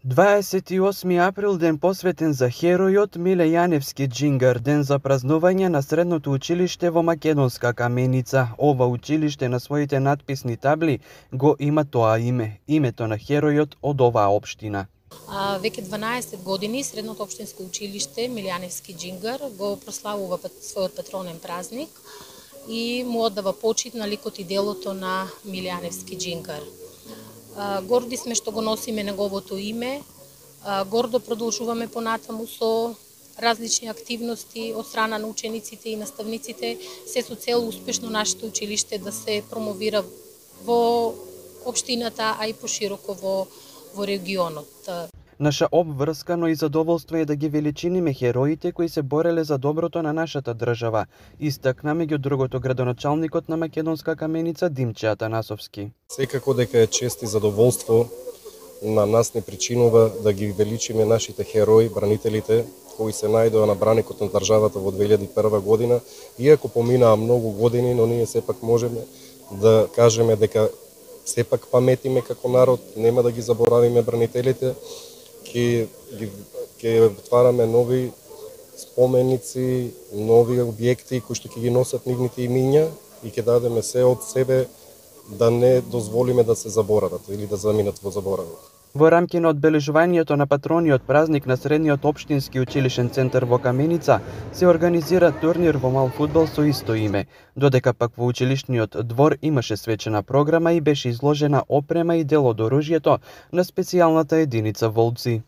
28 април, ден посветен за херојот Миле Јаневски Џингар, ден за празнување на средното училиште во Македонска Каменица. Ова училиште на своите надписни табли го има тоа име, името на херојот од оваа општина. Веќе 12 години средното општинско училиште Миле Јаневски Џингар го прославува својот патронен празник и му оддава почит на ликот и делото на Миле Јаневски Џингар. Горди сме што го носиме неговото име, гордо продолжуваме понатаму со различни активности од страна на учениците и наставниците, се со цел успешно нашето училиште да се промовира во општината, а и пошироко во регионот. Наша обврска, но и задоволство е да ги величиниме хероите кои се бореле за доброто на нашата држава, истакна меѓу другото градоначалникот на Македонска Каменица Димче Атанасовски. Секако дека е чест и задоволство на нас не причинува да ги величиме нашите херои, бранителите, кои се најдоа на браникот на државата во 2001 година, иако поминаа многу години, но ние сепак можеме да кажеме дека сепак паметиме како народ, нема да ги заборавиме бранителите, ќе отвараме нови споменици, нови објекти кои што ќе ги носат нивните имиња и ќе дадеме се од себе да не дозволиме да се заборават или да заминат во заборавот. Во рамки на одбележувањето на патрониот празник на средниот општински училишен центар во Каменица се организира турнир во мал фудбал со исто име, додека пак во училишниот двор имаше свечена програма и беше изложена опрема и дел од оружјето на специјалната единица Волци.